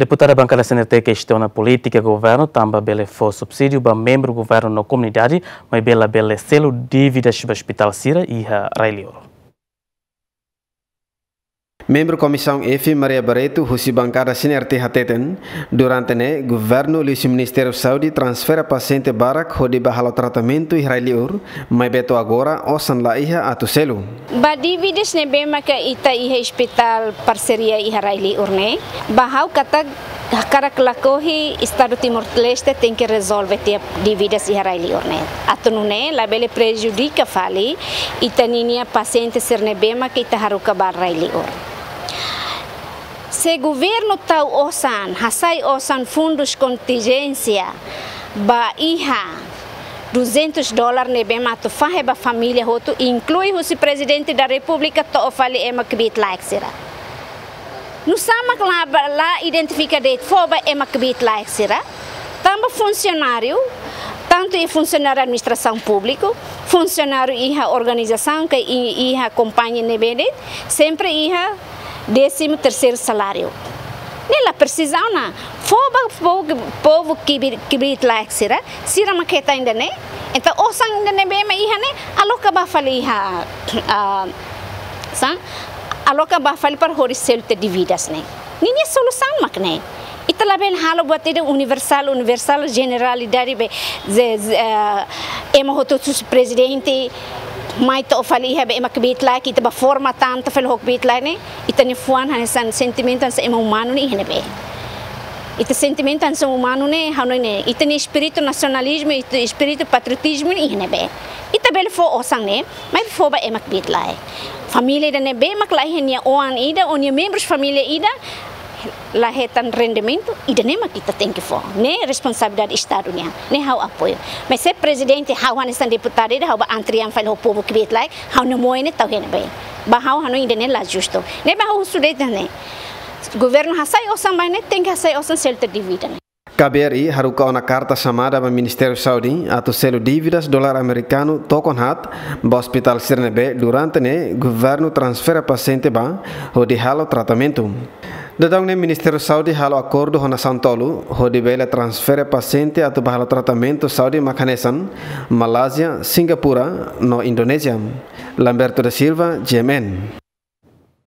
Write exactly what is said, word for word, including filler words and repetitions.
Deputada bankada C N R T kestiona polítika governu tanba bele fó subsídiu ba membru governu no komunidade, maibé labele selu dívidas ba ospitál sira iha rai-liur. Membru Komisaun F, Maria Barreto, husi bankada C N R T hateten, durante ne'e governu liuhusi Ministériu Saúde transfere pasiente barak hodi bá halo tratamentu iha rai-liur, maibé to'o agora osan la iha atu selu. Ba dívidas ne'ebé maka ita iha ospitál parseria iha rai-liur ne'e, ba ha'u katak hakarak lakohi Estadu Timor-Leste tenke rezolve tiha dívidas iha rai-liur ne'e. Atu nune'e labele prejudika fali ita-ninia pasiente sira ne'ebé maka ita haruka ba rai-liur. Se governu tau osan, hasai osan fundus kontinjénsia ba iha duzentos dólar ne'ebé mak atu fahe ba família hotu, inklui husi Prezidente da Repúblika to'o fali ema kbiit-laek sira. Nusá mak la, la identifika de'it fó ba ema kbiit-laek sira? Tanba funsionáriu, tantu iha funsionáriu administrasaun públiku, funsionáriu iha organizasaun ka i-, iha kompañia ne'ebé de'it, sempre iha décimo terceiro salário. Ne'e la presiza ona. Fó ba povu, povu kbiit, kbiit-laek sira, sira mak hetan ida-ne'e. Entaun osan ida ne'ebé mak iha ne'e, aloka ba fali iha, ah, sá, aloka ba fali para hodi selu tiha dívidas ne'e. Ninia solusaun mak ne'e. Ita labele halo buat ida universál, universál, jeneralidade be, ze-, ze-, eh, ema hotu-hotu husi prezidente, mai to'o fali iha be ema kbiit-laek, ita ba forma tan to'o fali ho kbiit-laek ne'e, ita-nia fuan hanesan sentimentu hanesan ema umanu ne'e iha ne'ebé. Ita sentimentu hanesan umanu ne'e, ha'u hanoin ne'e, ita-nia espíritu nasionalizmu, ita espíritu patriotizmu ne'e iha ne'ebé. Ita bele fó osan ne'e, maibé fó ba ema kbiit-laek. Família ida ne'ebé mak la iha nia oan ida, ou nia membrus família ida, la hetan rendimentu, ida-ne'e mak ita tenke fó. Ne'e responsabilidade Estadu nian. Ne'e ha'u apoiu. Mas se prezidente, ha'u hanesan deputada ida, ha'u ba antrian fali ho povu kbiit-laek, ha'u-nia moe ne'e tau iha ne'ebé. Ba ha'u hanoin ida-ne'e la justu. Ne'ebé ha'u husu de'it ne'e. Governu hasai osan ba ne'e, tenke hasai osan selu tiha dívida ne'e. K B R I haruka ona karta xamada ba Ministériu Saúde atu selu dívidas dolar amerikanu tokon haat ba ospitál sira ne'ebé durante ne'e governu transfere pasiente ba hodi halo tratamentu. Daudaun ne'e Ministériu Saúde halo akordu ho nasaun tolu hodi bele transfere pasiente atu ba halo tratamentu saúde mak hanesan Malázia, Singapura no Indonézia. Lamberto da Silva, G M N.